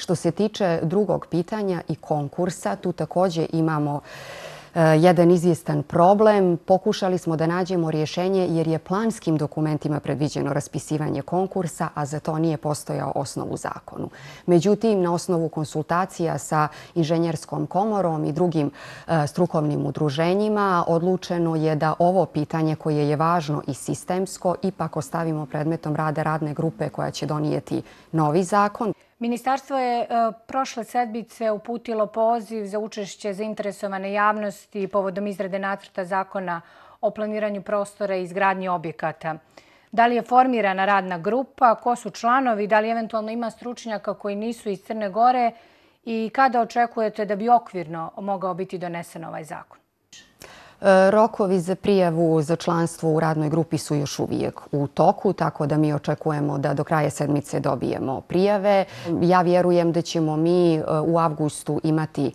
Što se tiče drugog pitanja i konkursa, tu također imamo jedan izvjestan problem. Pokušali smo da nađemo rješenje jer je planskim dokumentima predviđeno raspisivanje konkursa, a za to nije postojao osnov u zakonu. Međutim, na osnovu konsultacija sa Inženjerskom komorom i drugim strukovnim udruženjima odlučeno je da ovo pitanje koje je važno i sistemsko ipak ostavimo predmetom rada radne grupe koja će donijeti novi zakon. Ministarstvo je prošle sedmice uputilo poziv za učešće zainteresovane javnosti povodom izrade nacrta zakona o planiranju prostora i izgradnji objekata. Da li je formirana radna grupa, ko su članovi, da li eventualno ima stručnjaka koji nisu iz Crne Gore i kada očekujete da bi okvirno mogao biti donesen ovaj zakon? Rokovi za prijavu za članstvo u radnoj grupi su još uvijek u toku, tako da mi očekujemo da do kraja sedmice dobijemo prijave. Ja vjerujem da ćemo mi u avgustu imati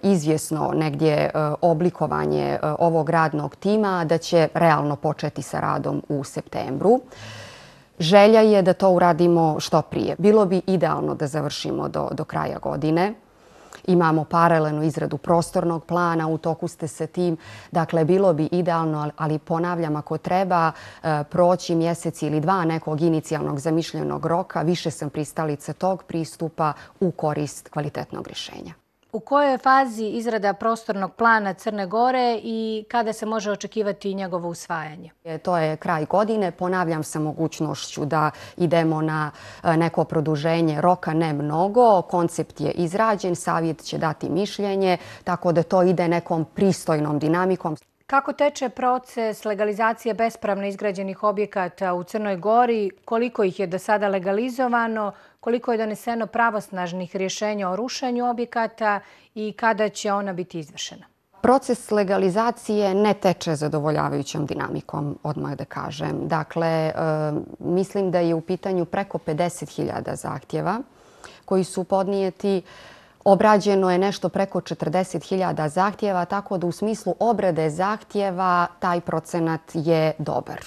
izvjesno negdje oblikovanje ovog radnog tima, da će realno početi sa radom u septembru. Želja je da to uradimo što prije. Bilo bi idealno da završimo do kraja godine. Imamo paralelnu izradu prostornog plana, u toku ste sa tim. Dakle, bilo bi idealno, ali ponavljam, ako treba proći mjesec ili dva nekog inicijalnog zamišljenog roka, više sam pristalica tog pristupa u korist kvalitetnog rješenja. U kojoj je fazi izrada prostornog plana Crne Gore i kada se može očekivati njegovo usvajanje? To je kraj godine. Ponavljam sa mogućnošću da idemo na neko produženje roka, ne mnogo. Koncept je izrađen, savjet će dati mišljenje, tako da to ide nekom pristojnom dinamikom. Kako teče proces legalizacije bespravno izgrađenih objekata u Crnoj Gori? Koliko ih je do sada legalizovano? Koliko je doneseno pravosnažnih rješenja o rušenju objekata i kada će ona biti izvršena? Proces legalizacije ne teče zadovoljavajućom dinamikom, odmah da kažem. Dakle, mislim da je u pitanju preko 50.000 zahtjeva koji su podnijeti. Obrađeno je nešto preko 40.000 zahtjeva, tako da u smislu obrade zahtjeva taj procenat je dobar.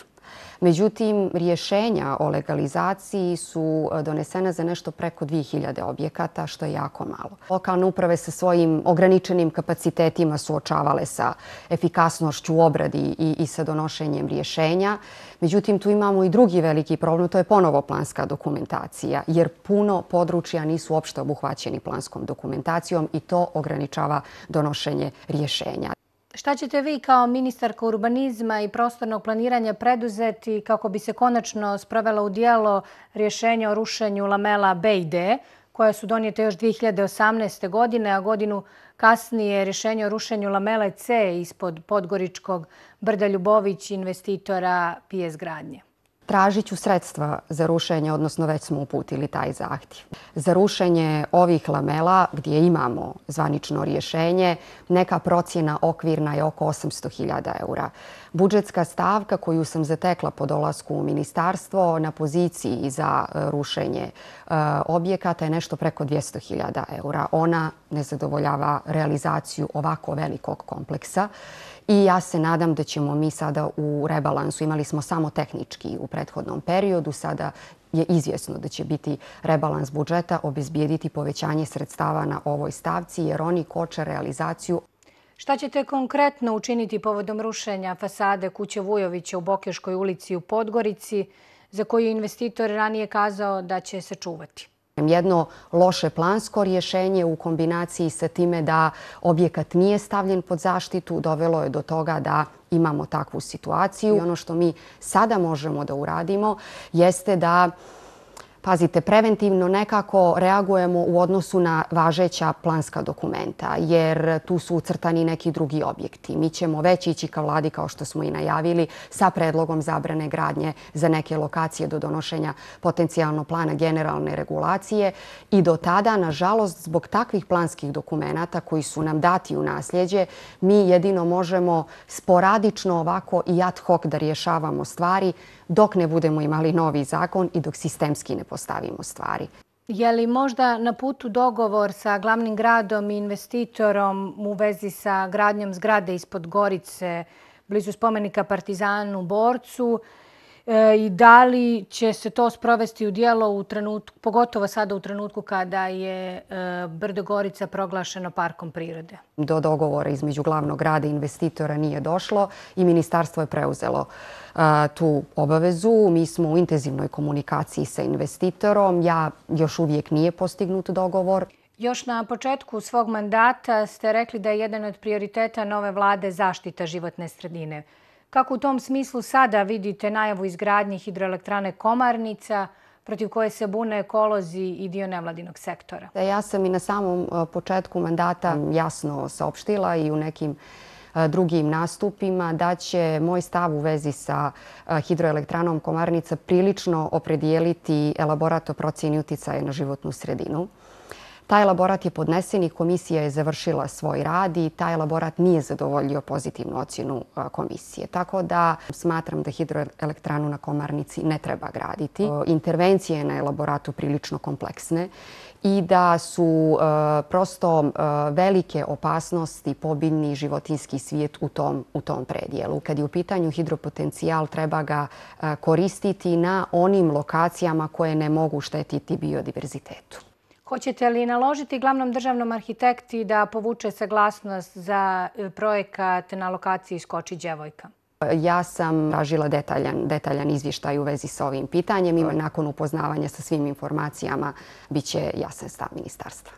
Međutim, rješenja o legalizaciji su donesena za nešto preko 2.000 objekata, što je jako malo. Lokalne uprave sa svojim ograničenim kapacitetima suočavale sa efikasnošću u obradi i sa donošenjem rješenja. Međutim, tu imamo i drugi veliki problem, to je ponovo planska dokumentacija, jer puno područja nisu uopšte obuhvaćeni planskom dokumentacijom i to ograničava donošenje rješenja. Šta ćete vi kao ministarka urbanizma i prostornog planiranja preduzeti kako bi se konačno sprovela u djelo rješenja o rušenju lamela B i D, koja su donijete još 2018. godine, a godinu kasnije rješenje o rušenju lamele C ispod Podgoričkog brda Ljubović investitora PS Gradnje? Tražit ću sredstva za rušenje, odnosno već smo uputili taj zahtjev. Za rušenje ovih lamela, gdje imamo zvanično rješenje, neka procjena okvirna je oko 800.000 eura. Budžetska stavka koju sam zatekla po dolasku u ministarstvo na poziciji za rušenje objekata je nešto preko 200.000 eura. Ona ne zadovoljava realizaciju ovako velikog kompleksa. I ja se nadam da ćemo mi sada u rebalansu, imali smo samo tehnički u prethodnom periodu, sada je izvjesno da će biti rebalans budžeta, obezbijediti povećanje sredstava na ovoj stavci jer oni koče realizaciju. Šta ćete konkretno učiniti povodom rušenja fasade kuće Vujovića u Bokeškoj ulici u Podgorici, za koju je investitor ranije kazao da će se čuvati? Jedno loše plansko rješenje u kombinaciji sa time da objekat nije stavljen pod zaštitu dovelo je do toga da imamo takvu situaciju. I ono što mi sada možemo da uradimo jeste da, pazite, preventivno nekako reagujemo u odnosu na važeća planska dokumenta, jer tu su ucrtani neki drugi objekti. Mi ćemo već ići ka vladi, kao što smo i najavili, sa predlogom zabrane gradnje za neke lokacije do donošenja potencijalno plana generalne regulacije i do tada, nažalost, zbog takvih planskih dokumenata koji su nam dati u nasljeđe, mi jedino možemo sporadično ovako i ad hoc da rješavamo stvari dok ne budemo imali novi zakon i dok sistemski ne postavimo stvari. Je li možda na putu dogovor sa glavnim gradom i investitorom u vezi sa gradnjom zgrade ispod Gorice, blizu spomenika Partizanu Borcu? i da li će se to sprovesti u djelo, pogotovo sada u trenutku kada je Brdo Gorica proglašeno parkom prirode? Do dogovora između glavnog grada i investitora nije došlo i ministarstvo je preuzelo tu obavezu. Mi smo u intenzivnoj komunikaciji sa investitorom. Još uvijek nije postignut dogovor. Još na početku svog mandata ste rekli da je jedan od prioriteta nove vlade zaštita životne sredine. Kako u tom smislu sada vidite najavu izgradnje hidroelektrane Komarnica, protiv koje se bune ekolozi i dio nevladinog sektora? Ja sam i na samom početku mandata jasno saopštila i u nekim drugim nastupima da će moj stav u vezi sa hidroelektranom Komarnica prilično opredijeliti elaborat o procjeni uticaja na životnu sredinu. Taj elaborat je podnesen i komisija je završila svoj rad i taj elaborat nije zadovoljio pozitivnu ocjenu komisije. Tako da smatram da hidroelektranu na Komarnici ne treba graditi. Intervencije na elaboratu prilično kompleksne i da su prosto velike opasnosti po biljni i životinjski svijet u tom predjelu. Kad je u pitanju hidropotencijal, treba ga koristiti na onim lokacijama koje ne mogu štetiti biodiverzitetu. Hoćete li naložiti glavnom državnom arhitekti da povuče saglasnost za projekat na lokaciji Skoči Đevojka? Ja sam tražila detaljan izvještaj u vezi sa ovim pitanjem i nakon upoznavanja sa svim informacijama bit će jasan stav ministarstva.